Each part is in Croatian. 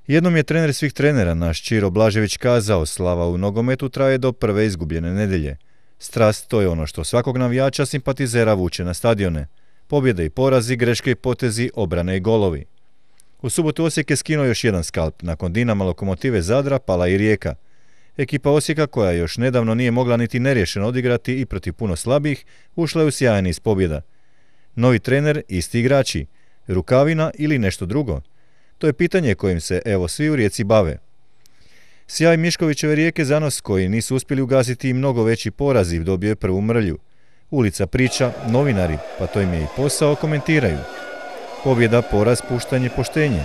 Jednom je trener svih trenera, naš Čiro Blažević, kazao: slava u nogometu traje do prve izgubljene nedjelje. Strast, to je ono što svakog navijača simpatizera vuče na stadione. Pobjede i porazi, greške i potezi, obrane i golovi. U subotu Osijek je skinuo još jedan skalp. Nakon Dinama, Lokomotive, Zadra pala i Rijeka. Ekipa Osijeka, koja još nedavno nije mogla niti neriješeno odigrati i protiv puno slabih, ušla je u sjajan niz pobjeda. Novi trener, isti igrači, Rukavina ili nešto drugo? To je pitanje kojim se evo svi u Rijeci bave. Sjaj Miškovićeve Rijeke zanos, koji nisu uspjeli ugasiti i mnogo veći poraziv, dobio je prvu mrlju. Ulica priča, novinari, pa to im je i posao, komentiraju. Pobjeda, poraz, puštanje, poštenje.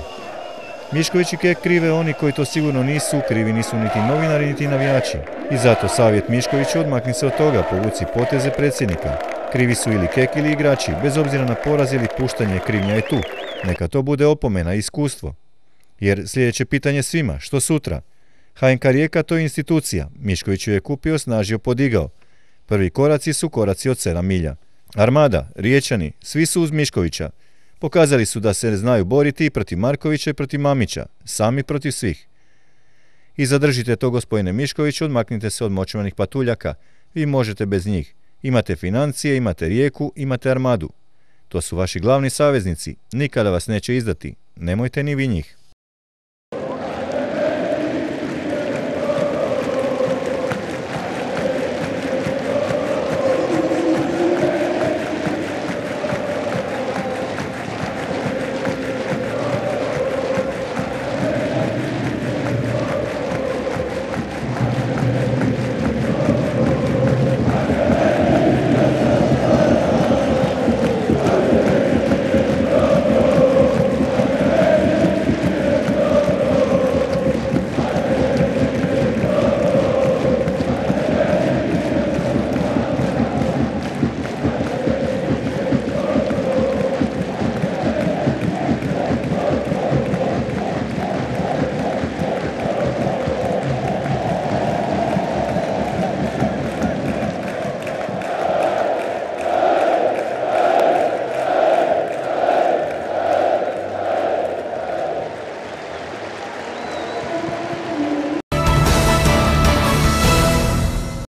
Mišković i Kek krive oni koji to sigurno nisu, krivi nisu niti novinari niti navijači. I zato savjet Miškoviću: odmakni se od toga, povuci poteze predsjednika. Krivi su ili Kek ili igrači, bez obzira na poraz ili puštanje, krivnja je tu. Neka to bude opomena i iskustvo. Jer sljedeće pitanje svima: što sutra? HNK Rijeka, to je institucija. Mišković ju je kupio, snažio, podigao. Prvi koraci su koraci od 7 milja. Armada, Riječani, svi su uz Miškovića. Pokazali su da se znaju boriti i protiv Markovića i protiv Mamića, sami protiv svih. I zadržite to, gospodine Mišković, odmaknite se od močvarnih patuljaka. Vi možete bez njih. Imate financije, imate Rijeku, imate Armadu. To su vaši glavni saveznici, nikada vas neće izdati. Nemojte ni vi njih.